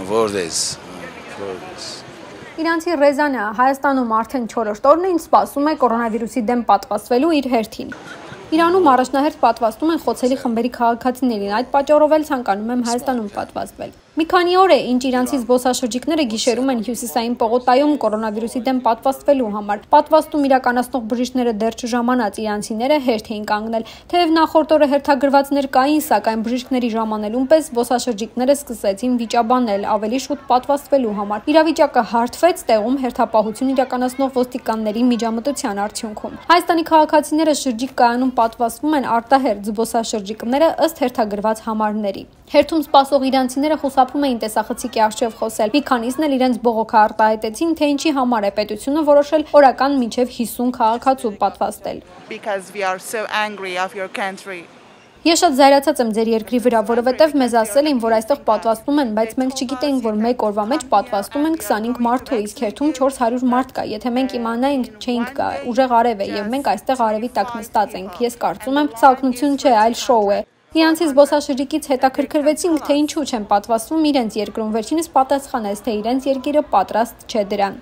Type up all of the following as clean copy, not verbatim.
Որտես։ Իրանցի Ռեզանը Հայաստանում արդեն 4-րդ օրն է, ինչ սպասում է կորոնավիրուսի դեմ պատվաստվելու իր հերթին։ Իրանում առաջնահերթ պատվաստում են խոցելի խմբերի քաղաքացիներին, այդ պատճառով էլ ցանկանում եմ Հայաստանում պատվաստվել։ Մի քանի օր է, ինչ իրանցի զբոսաշրջիկները գիշերում են Հյուսիսային պողոտայում կորոնավիրուսի դեմ պատվաստվելու համար։ Պատվաստում իրականացնող բժիշկները դեռ չժամանած իրանցիները հերթ էին կանգնել։ Թեև նախորդ օրը հերթագրվածներ կային, սակայն բժիշկների ժամանելուն պես զբոսաշրջիկները սկսեցին վիճաբանել ավելի շուտ պատվաստվելու համար։ Իրավիճակը հարթվեց տեղում հերթապահություն իրականացնող ոստիկանների միջամտության արդյունքում։ Հայաստանի քաղաքացիները շրջիկ կայանում պատվաստվում են արտահերթ զբոսաշրջիկները ըստ հերթագրված համարների։ Հերթում սպասող իրանցիները խուսափում էին տեսախցիկի առջև խոսել։ Մի քանիսն էլ իրենց բողոքը արտահայտեցին, թե ինչի համար է պետությունը որոշել օրական մինչև 50 քաղաքացու պատվաստել։ Ես շատ զայրացած եմ ձեր երկրի վրա, որովհետև մեզ ասել էին, որ այստեղ պատվաստում են, բայց մենք չգիտեինք, որ մեկ օրվա մեջ պատվաստում են 25 մարդու, իսկ հերթում 400 մարդ կա։ Եթե մենք իմանայինք, չէինք գա, ուժեղ արև է եւ մենք այստեղ արևի տակ նստած ենք։ Ես կարծում եմ, սա օգնություն չէ, այլ շոու է։ Իրանցի զբոսաշրջիկից հետաքրքրվեցինք, թե ինչու չեն պատվաստվում իրենց երկրում, վերջինս պատասխանեց, թե իրենց երկիրը պատրաստ չէ դրան։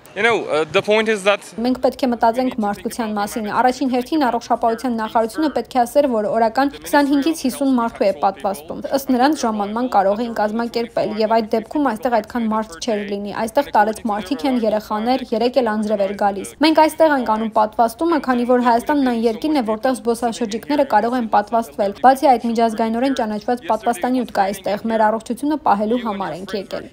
Մենք պետք է մտածենք մարդկության մասին։ Առաջին հերթին առողջապահության նախարարությունը պետք է ասեր, որ օրական 25-ից 50 մարդու է պատվաստում։ Ըստ նրանց ժամանման կարող էին կազմակերպել, եւ այդ դեպքում այստեղ այդքան մարդ չէր լինի։ Այստեղ տարեց մարդիկ են, երեխաներ, 3 էլ անձրև էր գալիս։ Մենք այստեղ ենք անում պատվաստումը, քանի որ Հայաստանն այն երկիրն է, որտեղ զբոսաշրջիկները կարող են պատվաստվել։ Բացի այդ միջազգայինորեն ճանաչված պատվաստանյութ կա այստեղ, մեր առողջությունը պահելու համար ենք եկել։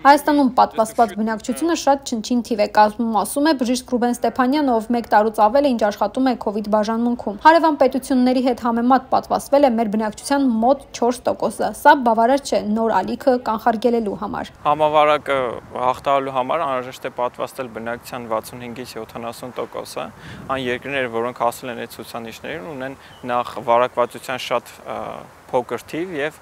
Հայաստանում պատվաստված բնակչությունը շատ չնչին թիվ է կազմում, ասում է բժիշկ Ռուբեն Ստեփանյանը, ով 1 տարուց ավել է ինչ աշխատում է COVID բաժանմունքում։ Հարևան պետությունների հետ համեմատ պատվաստվել է մեր բնակչության մոտ 4%-ը։ Սա բավարար չէ նոր ալիքը կանխարգելելու համար։ Համավարակը հաղթահարելու համար անհրաժեշտ է պատվաստել բնակչության 65-ից 70%-ը։ Այն երկրները, որոնք հասել են այդ ցուցանիշներին, ունեն նախ վարակվածության շատ փոքր թիվ եւ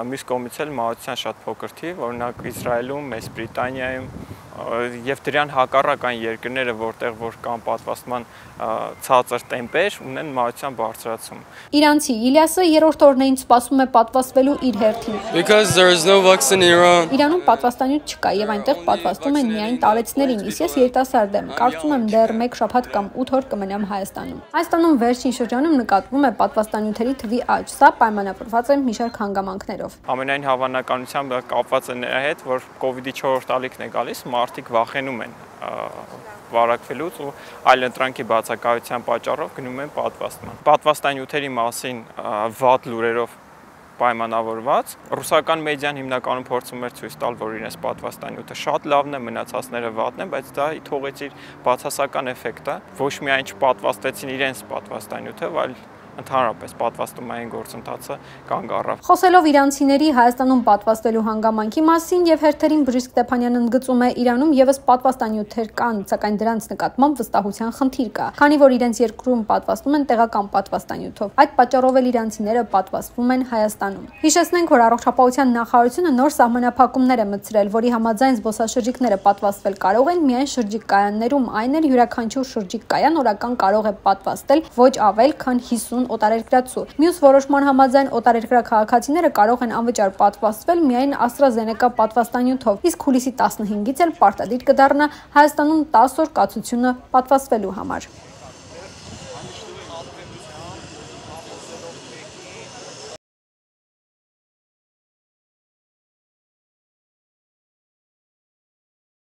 մյուս կողմից էլ մահացության շատ փոքր թիվ, օրինակ Իսրայելում, Մեծ Բրիտանիայում եւ դրան հակառակ այն երկրները, որտեղ որ կան պատվաստման ցածր տեմպեր, ունեն մահացության բարձրացում։ Իրանցի Իլիասը 3-րդ օրն է ինչ սպասում է պատվաստվելու իր հերթին։ Իրանում պատվաստանյութ չկա եւ այնտեղ պատվաստում են միայն տարեցներին, իսկ ես երիտասարդ եմ, կարծում եմ դեռ 1 շաբաթ կամ 8 օր կմնամ Հայաստանում։ Հայաստանում վերջին շրջանում նկատվում է պատվաստանյութերի թվի աճ, սա պայմանավորված է մի շարք հանգամանքներով։ Ամենայն հավանականությամբ կապված է նրա հետ, որ COVID-ի 4-րդ ալիքն է գալիս, մարդիկ վախենում են վարակվելուց ու այլընտրանքի բացակայության պատճառով գնում են պատվաստման։ Պատվաստանյութերի մասին վատ լուրերով պայմանավորված ռուսական մեդիան հիմնականում փորձում էր ցույց տալ, որ իրենց պատվաստանյութը շատ լավն է, մնացածները վատն են, բայց դա թողեց իր բացասական էֆեկտը։ Ոչ միայն չպատվաստեցին իրենց պատվաստանյութը, այլ ընդհանրապես պատվաստումային գործընթացը կանգ առավ։ Խոսելով իրանցիների Հայաստանում պատվաստվելու հանգամանքի մասին եւ հերթերին բժիշկ Ստեփանյանը ընդգծում է, Իրանում եւս պատվաստանյութեր կան, սակայն դրանց նկատմամբ վստահության խնդիր կա, քանի որ իրենց երկրում պատվաստում են տեղական պատվաստանյութով։ Այդ պատճառով էլ իրանցիները պատվաստվում են Հայաստանում։ Հիշեցնենք, որ առողջապահության նախարարությունը նոր սահմանափակումներ է մտցրել, որի համաձայն զբոսաշրջիկները պատվաստվել կարող են միայն շրջիկ կայաններում, այն էլ յուրաքանչյուր շրջիկ կայան օրական կարող է պատվաստել ոչ ավել քան 50 օտարերկրացու։ Մյուս որոշման համաձայն օտարերկրյա քաղաքացիները կարող են անվճար պատվաստվել միայն AstraZeneca պատվաստանյութով, իսկ հուլիսի 15-ից էլ պարտադիր կդառնա Հայաստանում 10 օր կացությունը պատվաստվելու համար։